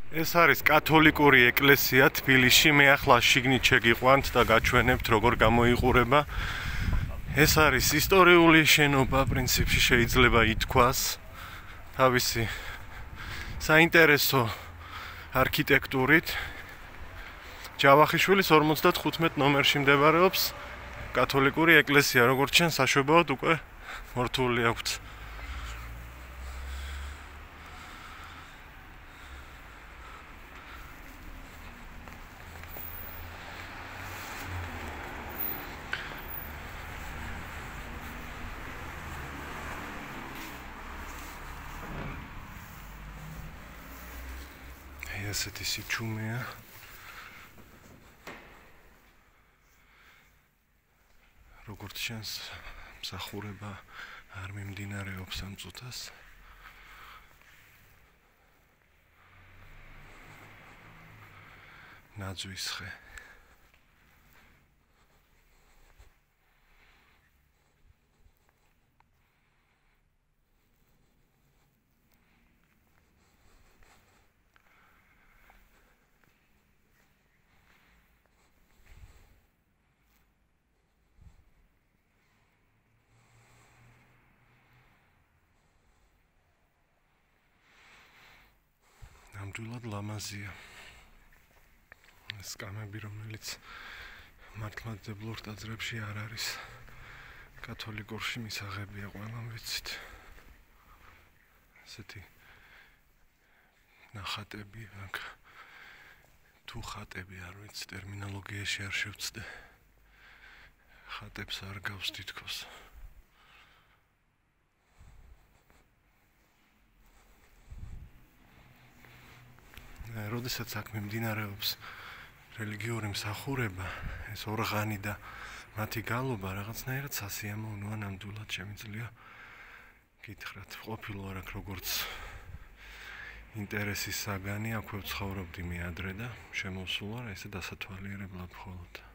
ეს არის კათოლიკური ეკლესია თბილისში. მე ახლა შიგნით შეგიყვანთ და გაჩვენებთ როგორ გამოიყურება. ეს არის ისტორიული შენობა, პრინციპში შეიძლება ითქვას. თავისი საინტერესო არქიტექტურით. ჯავახიშვილის 55 ნომერში მდებარეობს კათოლიკური ეკლესია, როგორც ჩვენ საშობაოდ უკვე მორთული აქვს. ესეთი სიჩუმეა. როგორც ჩანს, მსახურება არ მიმდინარეობს ამ წუთას. ნაძვის ხე. ნამდვილად ლამაზია. ეს კამები, რომელიც მართლმადიდებლურ ტაძრებში არ არის კათოლიკურში მისაღებია, ყველამ ვიცით. ესეთი ნახატები, თუ ხატები არ ვიცი, ტერმინოლოგიაში არ შევწდე. ხატებს არ გავს თითქოს. როდესაც აქ მიმდინარეობს რელიგიური მსახურება, ეს ორღანი და მათი გალობა რაღაცნაირად სასიამოვნოა, ნამდვილად შემიძლია გითხრათ, ყოფილვარ აქ როგორც ინტერესის საგანი, აქვე ვცხოვრობდი მე ადრე და შემოვსულ ვარ ესე დასათვალიერებლად მხოლოდ.